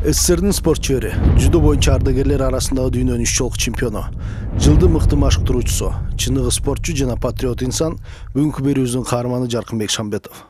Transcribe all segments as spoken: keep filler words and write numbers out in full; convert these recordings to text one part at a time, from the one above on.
СССРдин спортчулары, жүдо боюнча ардагерлер арасындагы дүйнөнүн үч жолку чемпиону, жылдын мыкты машыктыруучусу, чыныгы спортчу жана патриот инсан бүгүнкү берүүбүздүн каарманы Жаркынбек Шамбетов.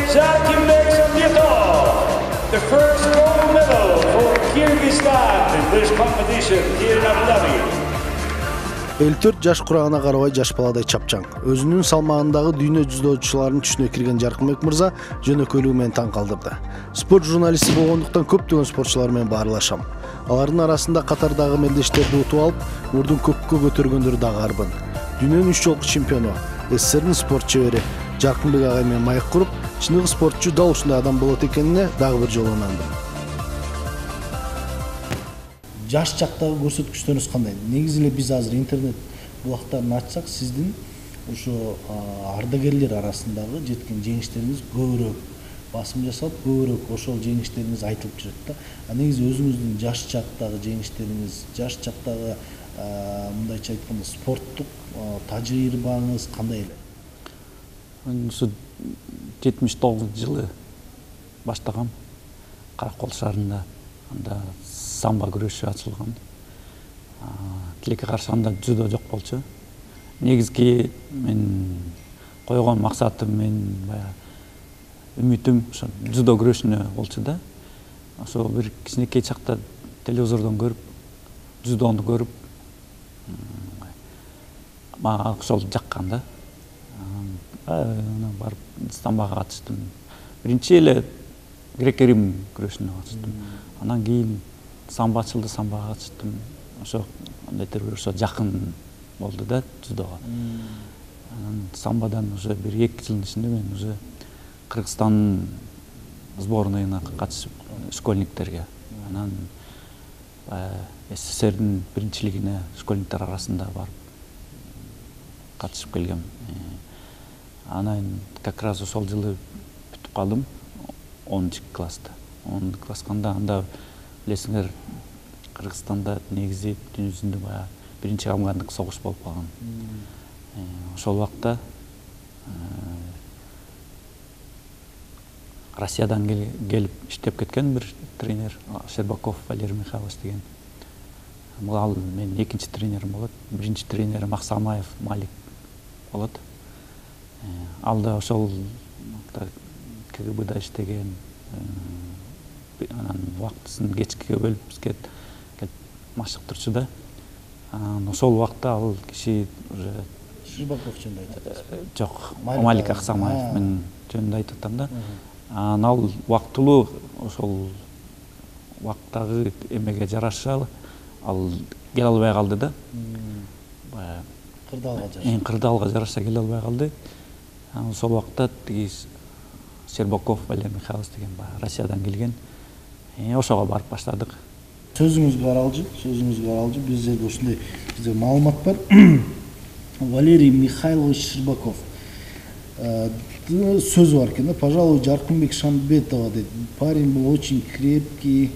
Жаркынбек Шамбетов, the first gold medal for Kyrgyzstan in this competition here in Abu Dhabi. элүү төрт жаш курагына карабай жаш баладай чапчаң. Өзүнүн салмагындагы дүйнө жүздөчүлөрүнүн түшүнө кирген Жаркынбек мырза жөнөкөйлүгү менен таң калтырды. Спорт журналисти болгондуктан көптөгөн спортчулар менен баарлашам. Алардын арасында катардагы мелдештерди утуп алып, мурдун көккө көтөргөндөр дагы арбын. Дүйнөнүн үч жолку чемпиону, СССРдин спортчулары Жаркынбек агай менен маек куруп, чыныгы спортчу дал ушундай адам болот экенине дагы бир жолу ынандым. Жаш чактагы көрсөткүчтөрүңүз кандай? Негизи эле биз азыр интернет булактарын ачсак, сиздин ушу ардагерлер арасындагы жеткен жеңиштериңиз көбүрөөк басым жасалып, көбүрөөк ошол жеңиштериңиз айтылып жүрөт да. А негизи өзүңүздүн жаш чактагы жеңиштериңиз, жаш чактагы мындайча айтканда спорттук тажрыйбаңыз кандай эле? Ушу жетимиш тогузунчу жылы баштагам Каракол шаарында. Анда самбо күрөшү ачылган. Тилекке каршы анда жүдө жок болчу. Негизги мен койгон максатым, мен баягы үмүтүм ошо жүдө күрөшүнө болчу да. Ошо бир кичинекей чакта телевизордон көрүп, жүдөнү көрүп, мага ошол жаккан да. Барып самбога катыштым. Биринчи эле грек-рим күрөшүнө катыштым. Анан кийин самбо ачылды, самбога катыштым. Ошо андайтыр ошо жакын болду да жүдөгө. Анан самбодан уже бир эки жылдын ичинде мен уже Кыргызстандын сборныйына катышып, школьниктерге. Анан СССРдин биринчилигине школьниктер арасында барып катышып келгем. Анан как раз ошол жылы бүтүп калдым онунчу класста. онунчу класска анда билесиңер, Кыргызстанда негизи дүнү жүзүндө баягы биринчи афгандык согуш болуп калган. Ошол убакта Россиядан келип иштеп кеткен бир тренер Щербаков Валерий Михайлович деген. Ал менин экинчи тренерим болот. Биринчи тренерим Аксамаев Малик болот. Ал да ошол КГБда иштеген. Анан убактысын кечке бөлүп бизге келип машыктырчу да. Анан ошол убакта ал киши уже Щербаков жөнүндө айтат. Жок, Малик Аксамаев мен жөнүндө айтып атам да. Анан ал убактылуу ошол убактагы эмеге жараша ал келе албай калды да. Баягы кырдаалга жараша. Эң кырдаалга жараша келе албай калды. Анан ошол убакта тиги Щербаков Валерий Михайлович деген баягы Россиядан келген. Ошого барып баштадык. Сөзүңүзгө аралжы, сөзүңүзгө аралжы. Биздерде ушундай бизде маалымат бар. Валерий Михайлович Щербаков. Сөз бар экен да, пожалуй, Жаркынбек Шамбетова дейт. Парень был очень крепкий,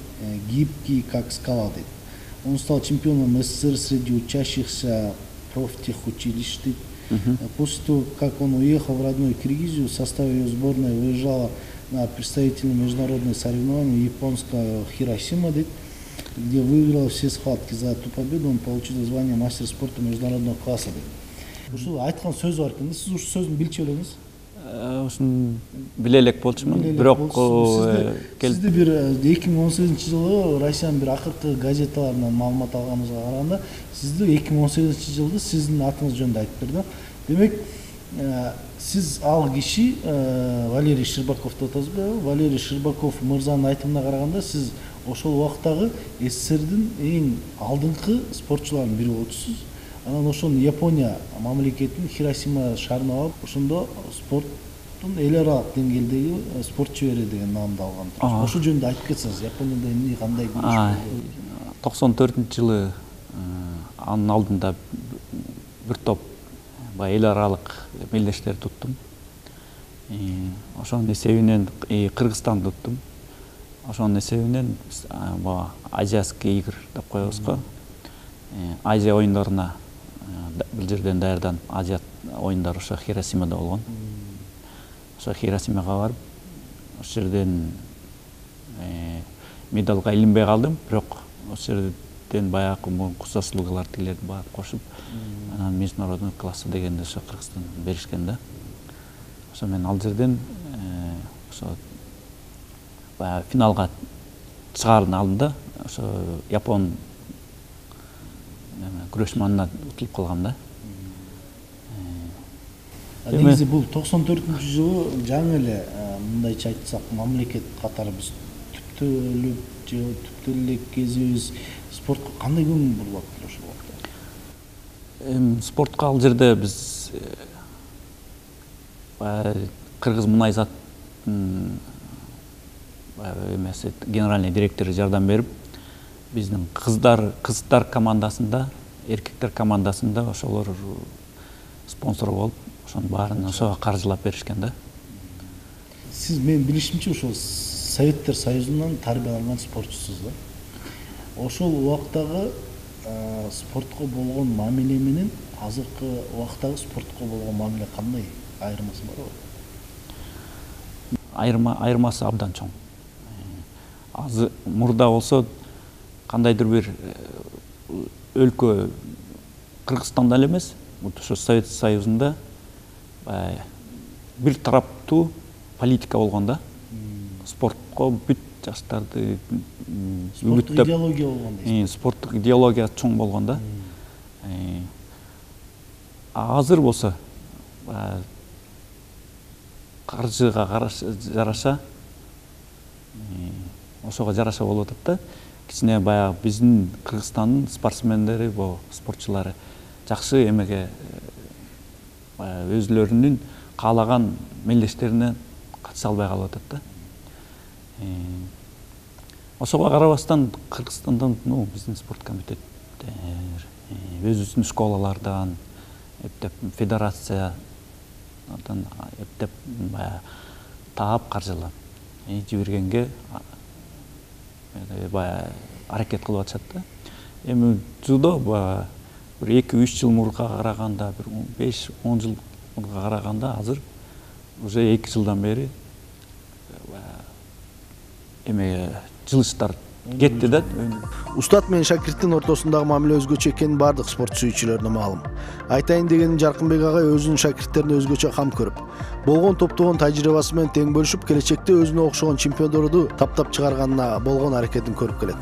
гибкий, как скала дейт. Он стал чемпионом СССР среди учащихся профтехучилищ. После того, как он уехал в родную Киргизию, в составе ее сборной выезжала на представительные международные соревнования японского Хиросима, где выиграл все схватки. За эту победу он получил звание мастер спорта международного класса. Ушул айткан сөз бар экен. Сиз ушул сөздүн билчү элеңиз? Ушун биле элек болчумун, бирок сизди бир эки миң он сегизинчи жылы Россиянын бир акыркы газеталарынан маалымат алганыбызга караганда, сизди эки миң он сегизинчи жылды сиздин атыңыз жөнүндө айтып берди. Демек, сиз ал киши Валерий Щербаков деп атасызбы? Валерий Щербаков мырзанын айтымына караганда, сиз ошол убактагы СССРдин эң алдыңкы спортчуларынын бири болчусуз. Анан ошону Япония мамлекетинин Хиросима шаарын алып, ошондо спорттун эл аралык деңгээлдеги спорт чебери деген наамды алган. Ошол жөнүндө айтып кетсеңиз, Японияда эмне кандай көрүнүш? токсон төртүнчү жылы анын алдында бир топ эл аралык мелдештер туттум. Ошонун эсебинен Кыргызстанды туттум. Ошонун эсебинен Азияский игр деп коебуз го. Азия оюндарына бул жерден даярданып, Азия оюндары ошо Хиросимада болгон. Ошо Хиросимага барып, ошол жерден медалга илинбей калдым, бирок ошол жерден баягы курсашлыгылар тилерди барып кошуп, анан международный классы дегенде ошо Кыргызстан беришкен да. Ошо мен ал жерден ошо баягы финалга чыгаардын алдында ошо Япон күрөшманына утулуп калгам да. Негизи бул токсон төртүнчү жылы жаңы эле мындайча айтсак, мамлекет катары биз түптөлүп же түптөлүк кезибиз спортко кандай көңүл бурулат ошол убакта? Эми спортко ал жерде биз Кыргыз Мунайзаттын эмеси генеральный директору жардам берип, биздин кыздар кыздар командасында, эркектер командасында ошолор спонсор болуп, ошонун баарын ошого каржылап беришкен да. Сиз мен билишимче ошол Советтер Союзунан тарбияланган спортчусуз да. Ошол убактагы спортко болгон мамиле менен азыркы убактагы спортко болгон мамиле кандай? Айырмасы барбы? Айырма айырмасы абдан чоң. Азыр мурда болсо кандайдыр бир өлкө Кыргызстанда эле эмес, ошо Совет Союзунда бир тараптуу политика болгон да. Спортко бүт жаштарды спорттук идеология болгон дейсиз. Спорттук идеология чоң болгон да. Азыр болсо каржыга жараша ошого жараша болуп атат да. Кичине баягы биздин Кыргызстандын спортсмендери, бо спортчулары жакшы эмеге өзлөрүнүн каалаган мелдештерине катыша албай калып атат да. Ошого карабастан Кыргызстандан, ну, биздин спорт комитеттер, өзүбүздүн школалардан, эптеп федерациядан эптеп баягы таап каржылап жибергенге баягы аракет кылып атышат да. Эми жудо баягы бир эки үч жыл мурга караганда, бир беш он жыл мурга караганда азыр уже эки жылдан бери эме жылыштар кетти да. Устат менен шакирттин ортосундагы мамиле өзгөчө экени бардык спорт сүйүүчүлөрүнө маалым. Айтайын дегеним, Жаркынбек агай өзүнүн шакирттерине өзгөчө кам көрүп, болгон топтогон тажрыйбасы менен тең бөлүшүп, келечекте өзүнө окшогон чемпиондорду таптап чыгарганына болгон аракетин көрүп келет.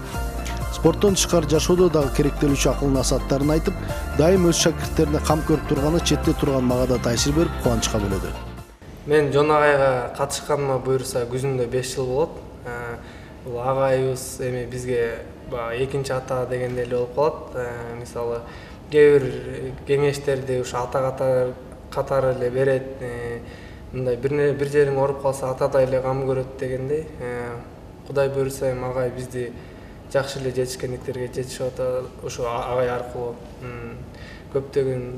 Спорттон тышкары жашоодо дагы керектелүүчү акыл насааттарын айтып, дайым өз шакирттерине кам көрүп турганы четте турган мага да таасир берип, кубанычка бөлөдү. Мен Жон агайга катышканыма буюрса күзүндө беш жыл болот. Бул агайыбыз эми бизге экинчи ата дегендей эле болуп калат. Мисалы, кээ бир кеңештерди ушу ата катары эле берет. Мындай бир жериң ооруп калса атадай эле кам көрөт дегендей. Кудай буюрса эми агай бизди жакшы эле жетишкендиктерге жетишип атат. Ушу агай аркылуу көптөгөн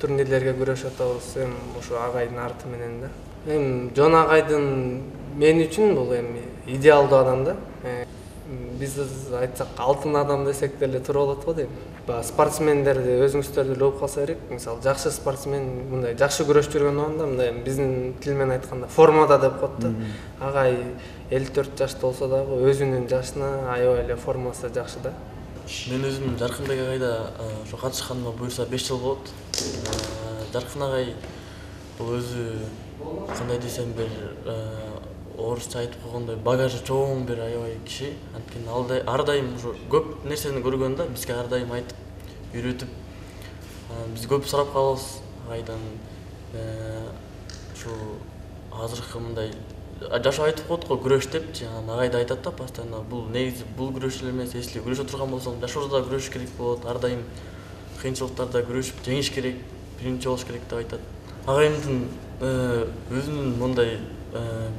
турнирлерге күрөшүп атабыз. Эми ушу агайдын арты менен да. Эми Жон агайдын мен үчүн бул эми идеалдуу адам да. Биз айтсак алтын адам десек деле туура болот го дейм. Спортсмендерди өзүңүздөрдү эле угуп калса керек. Мисалы, жакшы спортсмен мындай жакшы күрөшүп жүргөн убагында мындай биздин тил менен айтканда формада деп коет да. Агай элүү төрт жашта болсо дагы өзүнүн жашына аябай эле формасы жакшы да. Мен өзүм Жаркынбек агайда ошо катышканыма буюрса беш жыл болот. Жаркын агай бул өзү кандай десем бир орусча айтып койгондой багажы чоң бир аябай киши. Анткени ар дайым ушу көп нерсени көргөн да, бизге ар дайым айтып, үйрөтүп, биз көп сурап калабыз агайдан. Ушу азыркы мындай жашоо айтып коет го күрөш депчи, анан агай да айтат да постоянно бул негизи бул күрөш эле эмес, если күрөшө турган болсоң жашоодо да күрөшүш керек болот, ар дайым кыйынчылыктарда күрөшүп жеңиш керек, биринчи болуш керек деп айтат. Агайымдын өзүнүн мындай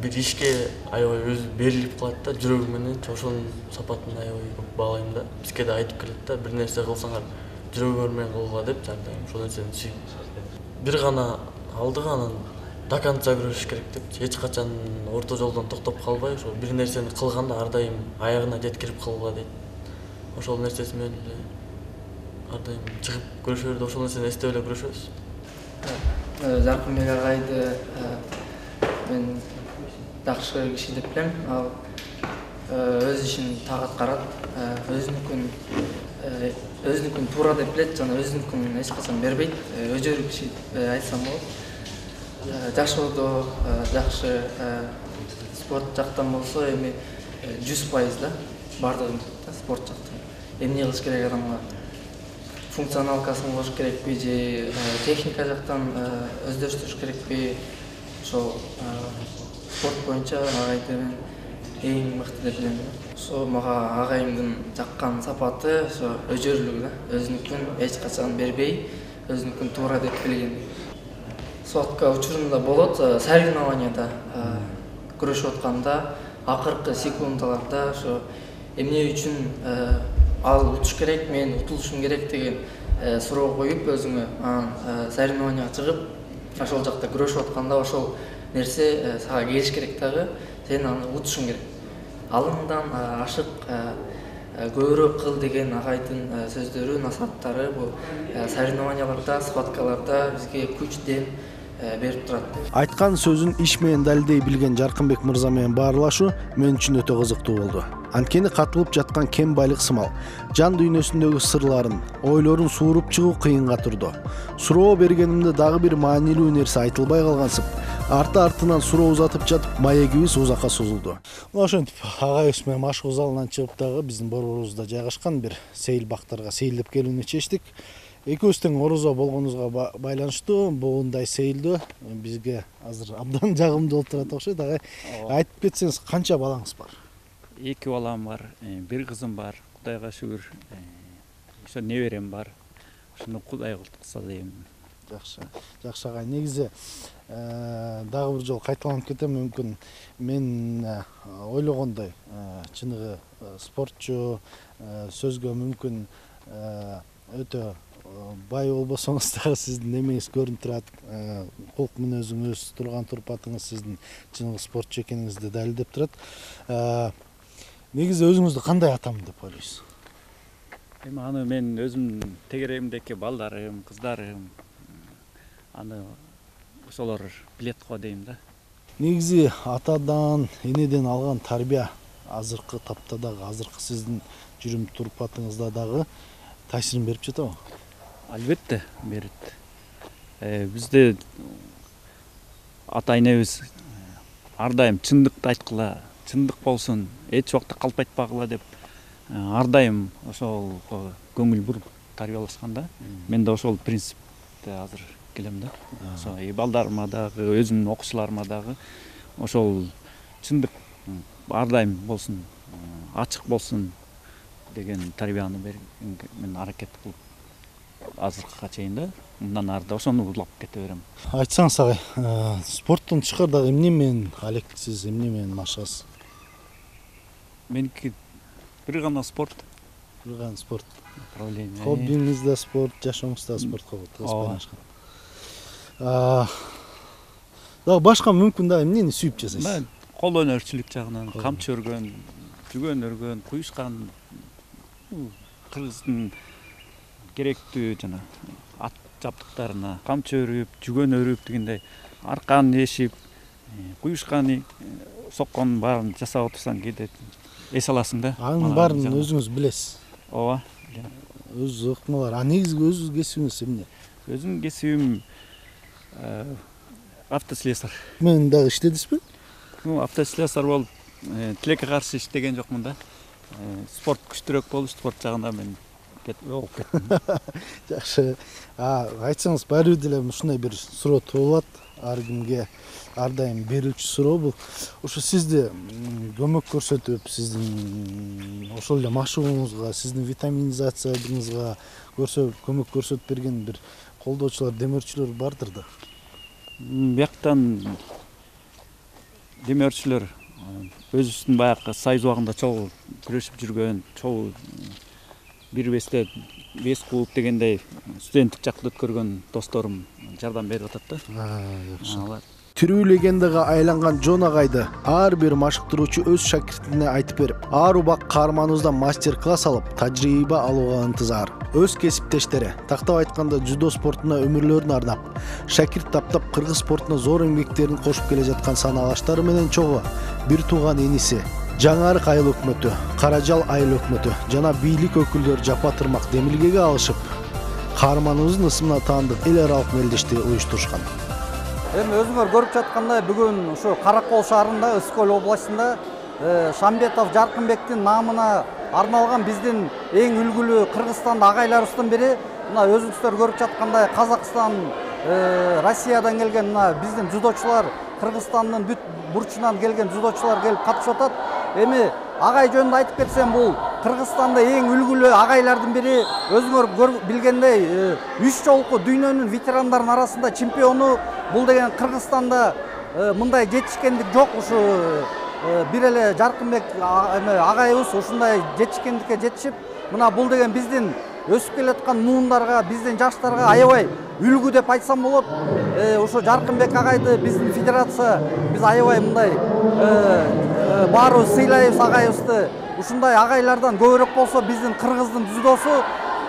бир ишке аябай өзү берилип калат да, жүрөгү менен, ошонун сапатын аябай көп баалайм да. Бизге да айтып келет да, бир нерсе кылсаңар жүрөгүңөр менен кылгыла деп, ар дайым ошол нерсени сүйүп. Бир гана алдыга анан до конца күрөшүш керек деп, эч качан орто жолдон токтоп калбай, ошо бир нерсени кылганда ар дайым аягына жеткирип кылгыла дейт. Ошол нерсеси менен ар дайым чыгып күрөшөбүз, ошол нерсени эстеп эле күрөшөбүз. Жаркынбек агайды мен жакшы киши деп билем. Ал өз ишин тагат карат, өзүнүкүн өзүнүкүн туура деп билет жана өзүнүкүн эч качан бербейт. Өжөрү киши айтсам болот. Жашоодо жакшы, спорт жактан болсо эми жүз пайыз да бардыгын спорт жактан. Эмне кылыш керек адамга? Функционалкасын кылыш керекпи же техника жактан өздөштүрүш керекпи? Ошол спорт боюнча агайды мен эң мыкты деп билем. Ошо мага агайымдын жаккан сапаты ошо өжөрлүгү да, өзүнүкүн эч качан бербей, өзүнүкүн туура деп билген. Схватка учурунда болот, соревнованияда күрөшүп атканда акыркы секундаларда ошо эмне үчүн ал утуш керек, мен утулушум керек деген суроо коюп өзүңө, анан соревнованияга чыгып, ошол жакта күрөшүп атканда ошол нерсе сага келиш керек дагы, сен аны утушуң керек. Алыңдан ашык көбүрөөк кыл деген агайдын сөздөрү, насааттары бул соревнованияларда, схваткаларда бизге күч, дем берип турат. Айткан сөзүн иш менен далилдей билген Жаркынбек мырза менен баарлашуу мен үчүн өтө кызыктуу болду. Анткени катылып жаткан кем байлык сымал жан дүйнөсүндөгү сырларын, ойлорун сууруп чыгуу кыйынга турду. Суроо бергенимде дагы бир маанилүү нерсе айтылбай калгансып, арты-артынан суроо узатып жатып маегибиз узакка созулду. Ошентип агайыбыз менен машыгуу залынан чыгып дагы биздин борборубузда жайгашкан бир сейил бактарга сейилдеп келүүнү чечтик. Экөөбүз тең орозо болгонубузга байланыштуу моундай сейилдөө бизге азыр абдан жагымдуу болуп турат окшойт. Агай, айтып кетсеңиз, канча балаңыз бар? Эки балам бар, бир кызым бар. Кудайга шүгүр. Ошо неберем бар. Ошону Кудай кылса дейм. Жакшы. Жакшы агай. Негизи дагы бир жолу кайталанып кетем, мүмкүн мен ойлогондой чыныгы спортчу, сөзгө мүмкүн өтө бай болбосоңуз дагы сиздин эмеңиз көрүнүп турат. Кулк мүнөзүңүз, турган турпатыңыз сиздин чыныгы спортчу экениңизди далилдеп турат. Негизи өзүңүздү кандай атам деп ойлойсуз? Эми аны мен өзүмдүн тегеремдеки балдарым, кыздарым аны ошолор билет го дейм да. Негизи атадан, энеден алган тарбия азыркы тапта дагы, азыркы сиздин жүрүм турпатыңызда дагы таасирин берип жатабы? Албетте берет. Бизде ата энебиз ар дайым чындыкты айткыла, чындык болсун, эч убакта калп айтпагыла деп ар дайым ошол көңүл буруп тарбиялашкан да. Мен да ошол принципте азыр келем да. Ошо балдарыма дагы, өзүмдүн окуучуларыма дагы ошол чындык ар дайым болсун, ачык болсун деген тарбияны мен аракет кылып азыркыга чейин да. Мындан ары да ошону улап кете берем. Айтсаңыз агай, спорттон тышкары дагы эмне менен алектисиз, эмне менен машыгасыз? Меники бир гана спорт. Бир гана спорт. Направление. Хоббиңиз да спорт, жашооңуз да спортко байланышкан. Дагы башка мүмкүн дагы эмнени сүйүп жасайсыз? Мен кол өнөрчүлүк жагынан камчы өргөн, жүгөн өргөн, куюшкан, кыргыздын керектүү жана ат жабдыктарына камчы өрүп, жүгөн өрүп дегендей аркан эшип, куюшканы, сокконун баарын жасап отурсаң кээде эс аласың да. Анын баарын өзүңүз билесиз. Ооба. Өз ыкмалар. А негизги өз кесибиңиз эмне? Өзүмдүн кесибим автослесарь. Мен дагы иштедисизби? Ну, автослесарь болуп, тилекке каршы иштеген жокмун да. Спорт күчтүүрөөк болуп, спорт жагында мен болуп кеттим. Жакшы. А, айтсаңыз баары деле ушундай бир суроо туулат. Ар кимге ар дайым берилчү суроо бул. Ошо сизди көмөк көрсөтүп, сиздин ошол эле машыгууңузга, сиздин витаминизациябыңызга көрсө көмөк көрсөтүп берген бир колдоочулар, демөөрчүлөр бардыр да. Бияктан демөөрчүлөр өзүбүздүн баягы Союз убагында чогуу күрөшүп жүргөн, чогуу бир бесте бес клуб дегендей студенттик жакта өткөргөн досторум жардам берип атат да. Жакшы. Тирүү легендага айланган Жон агайды ар бир машыктыруучу өз шакиртине айтып берип, ар убак каарманыбыздан мастер-класс алып, тажрыйба алууга ынтызар. Өз кесиптештери, тактап айтканда дзюдо спортуна өмүрлөрүн ардап, шакирт таптап кыргыз спортуна зор эмгектерин кошуп келе жаткан санаалаштары менен чогуу бир тууган эниси Жаңарык айыл өкмөтү, Каражал айыл өкмөтү жана бийлик өкүлдөрү жапа тырмак демилгеге алышып, каарманыбыздын ысымына таандык эл аралык мелдешти уюштурушкан. Эми өзүңөр көрүп жаткандай бүгүн ушу Каракол шаарында, Өскөл областында Шамбетов Жаркынбектин наамына арналган биздин эң үлгүлүү Кыргызстанда агайларыбыздын бири, мына өзүңүздөр көрүп жаткандай Казакстан, Россиядан келген мына биздин дзюдочулар, Кыргызстандын бүт бурчунан келген дзюдочулар келип катышып атат. Эми агай жөнүндө айтып кетсем, бул Кыргызстанда эң үлгүлүү агайлардын бири. Өзүңөр билгендей, үч жолку дүйнөнүн ветерандарынын арасында чемпиону. Бул деген Кыргызстанда мындай жетишкендик жок. Ушу бир эле Жаркынбек агайыбыз ушундай жетишкендикке жетишип, мына бул деген биздин өсүп келаткан муундарга, биздин жаштарга аябай үлгү деп айтсам болот. Ошо Жаркынбек агайды биздин федерация биз аябай мындай баарыбыз сыйлайбыз агайыбызды. Ушундай агайлардан көбүрөөк болсо биздин кыргыздын дзюдосу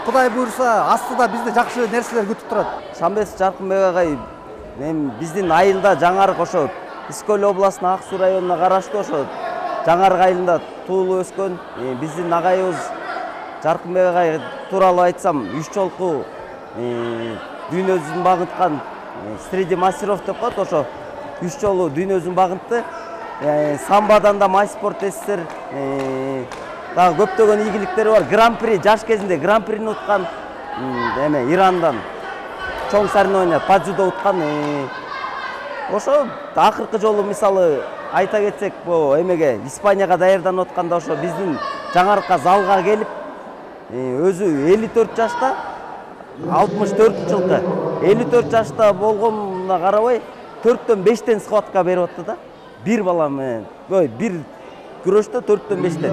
Кудай буйруса астыда бизди жакшы нерселер күтүп турат. Шамбет Жаркынбек агай мен биздин айылда Жаңарык ошо Өскөл областынын Ак Суу районуна караштуу ошо Жаңарык айылында туулуп өскөн. Биздин агайыбыз Жаркынбек агай тууралуу айтсам, үч жолку дүйнө жүзүн багынткан среди мастеров деп коет. Ошо үч жолу дүйнө жүзүн багынтты. Самбадан да Майспорт СССР дагы көптөгөн ийгиликтери бар. Гран-при жаш кезинде гран-прини уткан, эме Ирандан чоң соревнования по дзюдо уткан. Ошо акыркы жолу мисалы айта кетсек, бу эмеге Испанияга даярданып атканда ошо биздин Жаңарыкка залга келип, өзү элүү төрт жашта, алтымыш төртүнчү жылкы элүү төрт жашта болгонуна карабай төрттөн бештен схватка берип атты да. Бир бала менен, ой, бир күрөштө төрттөн бештен.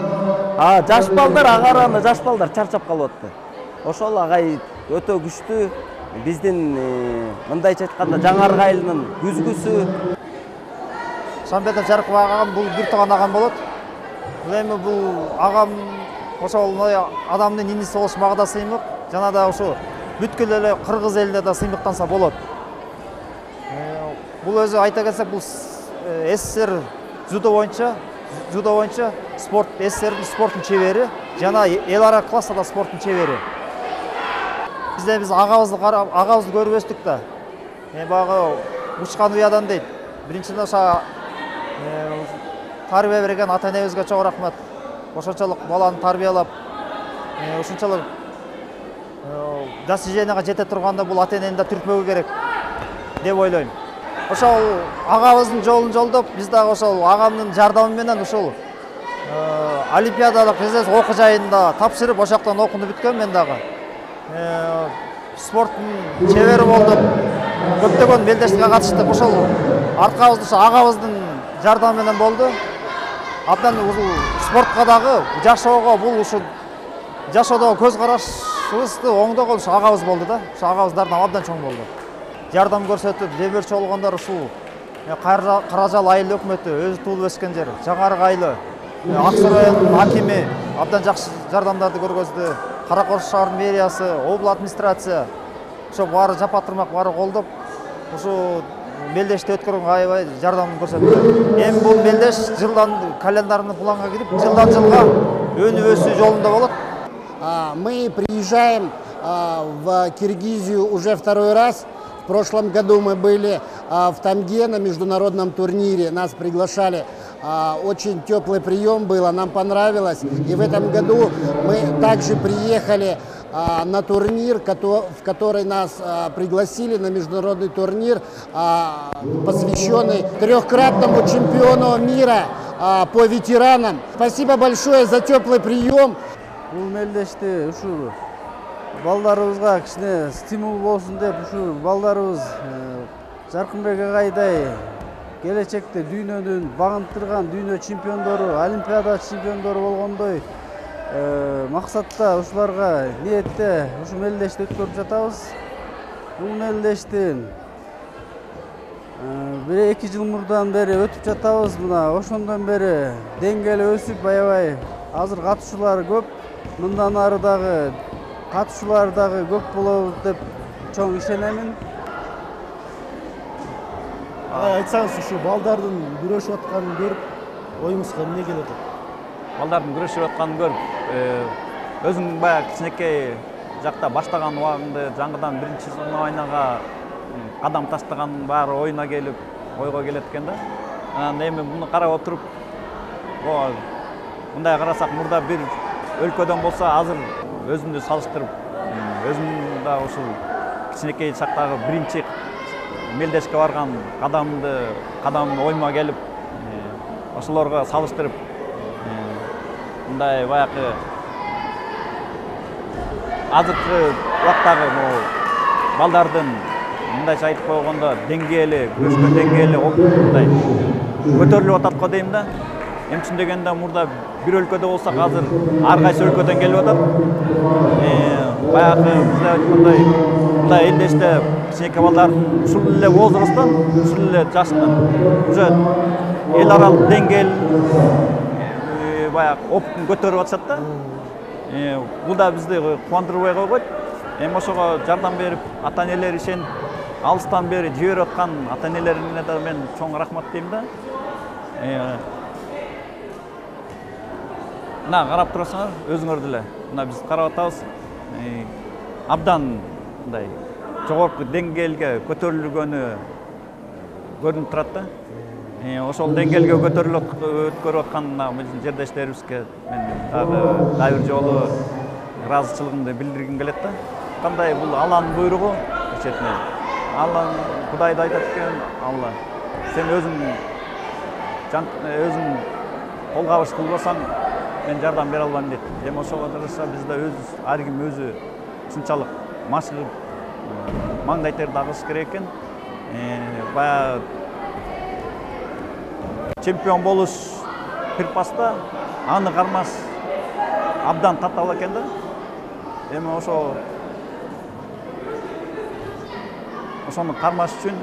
А жаш балдар, агараны жаш балдар чарчап калып атты. Ошол агай өтө күчтүү. Биздин мындайча айтканда Жаңарык айылынын күзгүсү. Шамбетов Жаркынбек агам бул бир тууган агам болот. Эми бул агам ошол адамдын иниси болуш мага сыймык. Жана да ошо бүткүл эле кыргыз элине да сыймыктанса болот. Бул өзү айта кетсек, бул СССР дзюдо боюнча, дзюдо боюнча спорт СССРдин спорттун чебери, жана эл ара класста да спорттун чебери. Бизде биз агабызды карап, агабызды көрүп өстүк да. Мен багы учкан уядан дейт. Биринчиден ошо тарбия берген ата-энебизге чоң рахмат. Ошончолук баланы тарбиялап, ушунчалык достиженияга жете турганда бул ата-энени да түртпөгө керек деп ойлойм. Ошол агабыздын жолун жолдоп, биз дагы ошол агамдын жардамы менен ушул олимпиадалык окуу жайында тапшырып, ошоктон окууну бүткөм мен дагы. Спорттун чебери болдук. Көптөгөн белдештикке катыштык. Ошол аркабызда ошо агабыздын жардамы менен болду. Абдан ушул спортко дагы жашоого, бул ушул жашоодогу көз карашыбызды оңдогон ушул агабыз болду да. Ушул агабыз жардам абдан чоң болду. Жардам көрсөтүп, демөөрчү болгондор ушул Каражал айыл өкмөтү, өзү туулуп өскөн жер, Жаңарык айылы, Ак Суу районунун акими абдан жакшы жардамдарды көргөздү. Каракол шаарынын мэриясы, обл администрация, ошо баары жапа тырмак баары колдоп, ушу мелдешти өткөргөнгө аябай жардам көрсөттү. Эми бул мелдеш жылдан календарный планга кирип, жылдан жылга өнүп өсүү жолунда болот. Мы приезжаем в Киргизию уже второй раз. В прошлом году мы были в Тамге на международном турнире, нас приглашали. Очень теплый прием было, нам понравилось. И в этом году мы также приехали на турнир, в который нас пригласили, на международный турнир, посвященный трехкратному чемпиону мира по ветеранам. Спасибо большое за теплый прием. Бул мелдешти ушул балдарыбызга кичине стимул болсун деп ушул балдарыбыз Жаркынбек агайдай келечекте дүйнөнүн багынтырган дүйнө чемпиондору, олимпиада чемпиондору болгондой максатта ушуларга ниетте ушу мелдешти өткөрүп жатабыз. Бул мелдештин бир эки жыл мурдан бери өтүп жатабыз. Мына ошондон бери деңгээли өсүп аябай азыр катышуулар көп. Мындан ары дагы катышуулар дагы көп болот деп чоң ишенемин. Айтсаңыз, ушу балдардын күрөшүп атканын көрүп, оюңузга эмне келет? Балдардын күрөшүп атканын көрүп, өзүң баягы кичинекей жакта баштаган убагыңды жаңыдан биринчи ойнага кадам таштаганын баары оюна келип, ойго келет экен да. Анан эми муну карап отуруп, мындай карасак, мурда бир өлкөдөн болсо, азыр өзүмдү салыштырып, өзүм да ушул кичинекей чактагы биринчи мелдешке барган кадамды, кадам ойма келип, ошолорго салыштырып, мындай баягы азыркы убактагы балдардын мындайча айтып койгондо деңгээли, күрөшкөн деңгээли мындай көтөрүлүп атат го дейм да. Эми үчүн дегенде мурда бир өлкөдө болсак, азыр ар кайсы өлкөдөн келип атат. Баягы бизде айткандай, мындай элдеште кичинекей балдардын ушул эле возрасттан, ушул эле жаштан уже эл аралык деңгээл баягы опытын көтөрүп атышат да. Бул да бизди кубандырбай койбойт. Эми ошого жардам берип, ата-энелер ишенип, алыстан бери жиберип аткан ата-энелерине да мен чоң рахмат дейм да. Мына карап турасыңар, өзүңөр деле. Мына биз карап атабыз. Абдан мындай жогорку деңгээлге көтөрүлгөнү көрүнүп турат да. Ошол деңгээлге көтөрүлүп өткөрүп аткан биздин жердештерибизге мен дагы дагы бир жолу ыраазычылыгымды билдиргим келет да. Кандай бул Алланын буйругу четинен. Алла Кудайды айтат экен, Алла сен өзүң өзүң кол кабыш кылбасаң мен жардам бере албайм дейт. Эми ошого жараша бизде өз ар ким өзү ушунчалык машыгып маңдай терди агыш керек экен. Баягы чемпион болуш пирпаста аны кармаш абдан татаал экен да. Эми ошо ошону кармаш үчүн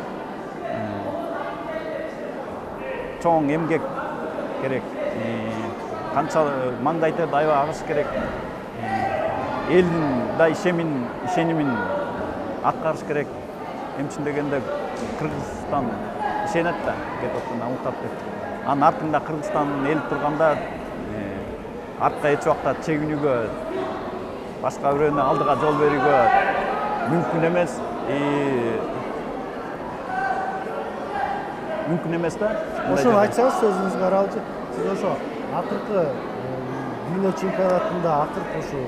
чоң эмгек керек. Канча маңдай терди аябай агыш керек. Элдин да ишемин, ишенимин аткарыш керек. Эми үчүн дегенде Кыргызстан ишенет да, кетиптен амуктап деп. Анын артында Кыргызстан эл турганда артка эч убакта чегинүүгө, башка бирөөнүн алдыга жол берүүгө мүмкүн эмес. Мүмкүн эмес да. Ошону айтсаңыз сөзүңүзгө аралчы. Сиз ошо акыркы дүйнө чемпионатында акыркы ошо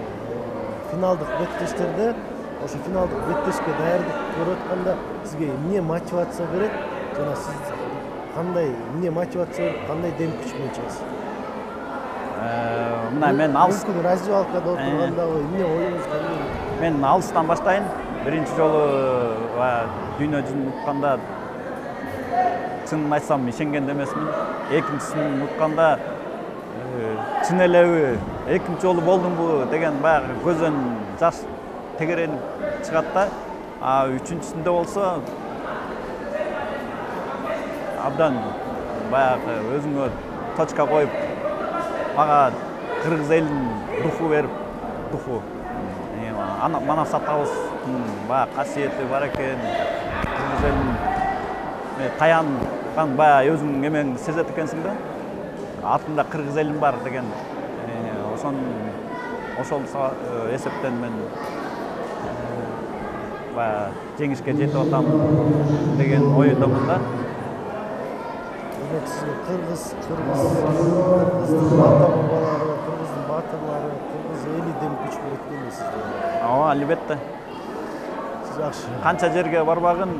финалдык беттештерде, ошо финалдык беттешке даярдык көрүп атканда сизге эмне мотивация берет? Жана сиз кандай эмне мотивация берип, кандай дем күч менен чыгасыз? Мына мен алыс мүмкүн раздевалкада отурганда эмне оюңуз кандай? Мен алыстан баштайын. Биринчи жолу дүйнө жүзүн утканда чынын айтсам ишенген эмесмин. Экинчисин утканда чын элеби экинчи жолу болдумбу деген баягы көздөн жаш тегеренип чыгат да. А үчүнчүсүндө болсо абдан баягы өзүңө точка коюп, мага кыргыз элинин духу берип, духу. Мана сатабыздын баягы касиети бар экен. Кыргыз элинин таянган баягы өзүң эмең сезет экенсиң да. Артында кыргыз элим бар деген ошон ошол эсептен мен баягы жеңишке жетип атам деген оюндомун да. Сизге кыргыз, кыргыз, кыргыздын ата бабалары, кыргыздын баатырлары, кыргыз эли дем күч берет дейсиз. Ооба, албетте. Жакшы. Канча жерге барбагын,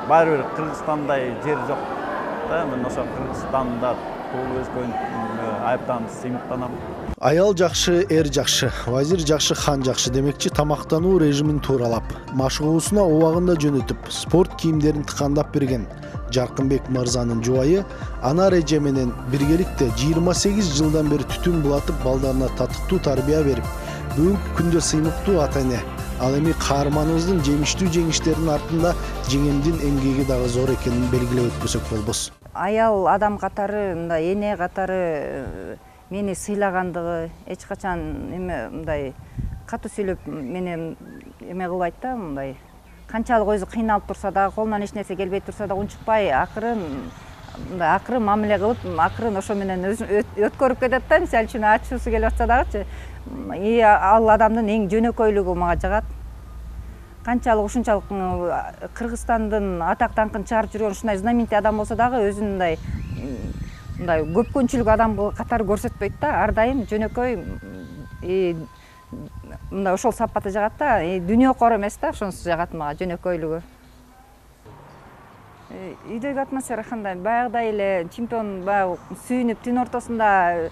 баары бир Кыргызстандай жер жок. Да, мен ошо Кыргызстанда туулуп өскөн айыптан сыймыктанам. Аял жакшы, эр жакшы, вазир жакшы, хан жакшы демекчи тамактануу режимин тууралап, машыгуусуна убагында жөнөтүп, спорт кийимдерин тыкандап берген Жаркынбек мырзанын жубайы ана Реже менен биргеликте жыйырма сегиз жылдан бери түтүн булатып, балдарына татыктуу тарбия берип, бүгүнкү күндө сыймыктуу ата-эне. Ал эми каарманыбыздын жемиштүү жеңиштеринин артында жеңемдин эмгеги дагы зор экенин белгилеп өтпөсөк болбос. Аял адам катары, мындай эне катары мени сыйлагандыгы, эч качан эме мындай катуу сүйлөп менен эме кылбайт да, мындай канчалык өзү кыйналып турса да, колунан эч нерсе келбей турса да унчукпай, акырын мындай акырын мамиле кылып, акырын ошо менен өткөрүп кетет да. Мисалы үчүн ачуусу келип атса дагычы, и ал адамдын эң жөнөкөйлүгү мага жагат. Канчалык ушунчалык Кыргызстандын атак даңкын чыгарып жүргөн ушундай знаменитый адам болсо дагы өзүн мындай мындай көпкөнчүлүк адам катары көрсөтпөйт да. Ар дайым жөнөкөй, мындай ошол сапаты жагат да. Дүйнө кор эмес да, ошонусу жагат мага, жөнөкөйлүгү. Үйдөгү атмосфера кандай? Баягыдай эле чемпион баягы сүйүнүп түн ортосунда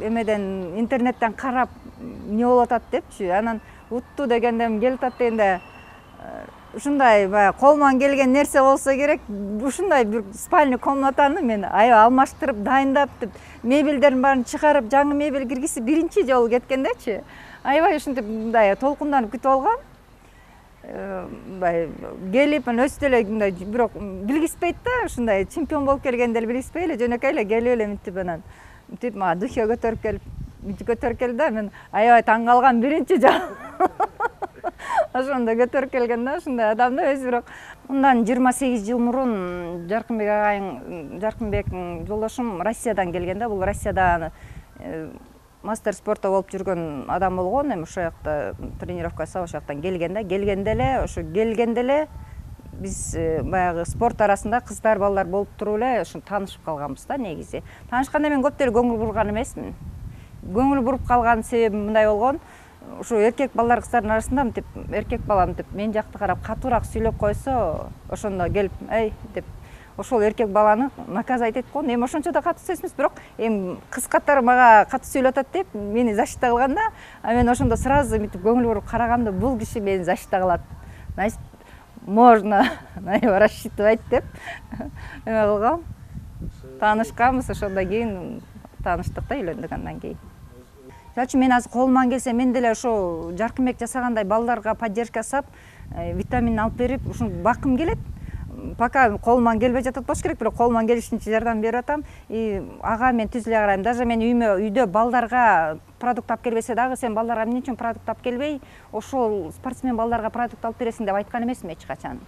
эмеден интернеттен карап эмне болуп атат депчи, анан утту дегенде келип атат дегенде ушундай баягы колуман келген нерсе болсо керек, ушундай бир спальный комнатаны мен аябай алмаштырып, дайындап, мебелдерин баарын чыгарып, жаңы мебель киргизип биринчи жолу кеткендечи, аябай ушинтип мындай толкунданып күтүп алгам. Мындай келип, өзү эле мындай бирок билгиспейт да, ушундай чемпион болуп келгенди эле билгиспей эле жөнөкөй эле келип эле мынтип анан мынтип мага духе көтөрүп келип, мынтип көтөрүп келди да, мен аябай таң калгам, биринчи жолу ошондо көтөрүп келген да, ушундай адам да өзү. Бирок мындан жыйырма сегиз жыл мурун Жаркынбек агайың, Жаркынбектин жолдошум Россиядан келген да. Бул Россияда мастер спорта болуп жүргөн адам болгон, эми ошол жакта тренировка жасап, ошол жактан келген да. Келгенде эле, ошо келгенде эле биз баягы спорт арасында кыздар, балдар болуп туруп эле ошо таанышып калганбыз да негизи. Таанышканда мен көп деле көңүл бурган эмесмин. Көңүл буруп калган себебим мындай болгон, ушу эркек балдар, кыздардын арасында мынтип эркек бала мынтип мен жакты карап катуураак сүйлөп койсо, ошондо келип, эй деп ошол эркек баланы наказать этип койгон. Эми ошончо да катуу эмес, бирок эми кыз катары мага катуу сүйлөп атат деп мени защита кылган да. А мен ошондо сразу мынтип көңүл буруп карагамда, бул киши мени защита кылат, значит можно рассчитывать деп эме кылгам. Таанышканбыз, ошондон кийин тааныштык да, үйлөндүк андан кийин. Жалчы мен азыр колуман келсе, мен деле ошо Жаркынбек жасагандай балдарга поддержка жасап, витамин алып берип, ушуну баккым келет. Пока колуман келбей жатат болуш керек, бирок колуман келишинче жардам берип атам. И ага мен түз эле карайм. Даже мен үймө үйдө балдарга продукт алып келбесе дагы, сен балдарга эмне үчүн продукт алып келбей, ошол спортсмен балдарга продукт алып бересиң деп айткан эмесмин эч качан.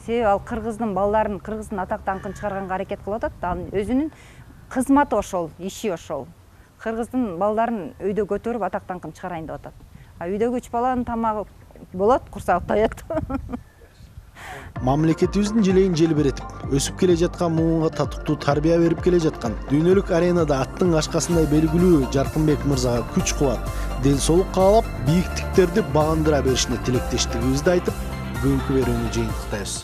Себеби ал кыргыздын балдарын, кыргыздын атак даңкын чыгарганга аракет кылып атат. Ал өзүнүн кызматы ошол, иши ошол. Кыргыздын балдарын өйдө көтөрүп атак даңкын чыгарайын деп атат. А үйдөгү үч баланын тамагы болот, курсагы тоет. Мамлекетибиздин желейин желбиретип, өсүп келе жаткан муунга татыктуу тарбия берип келе жаткан, дүйнөлүк аренада аттын кашкасындай белгилүү Жаркынбек мырзага күч кубат, ден соолук каалап, бийиктиктерди багындыра беришине тилектештигибизди айтып, бүгүнкү берүүнү жыйынтыктайбыз.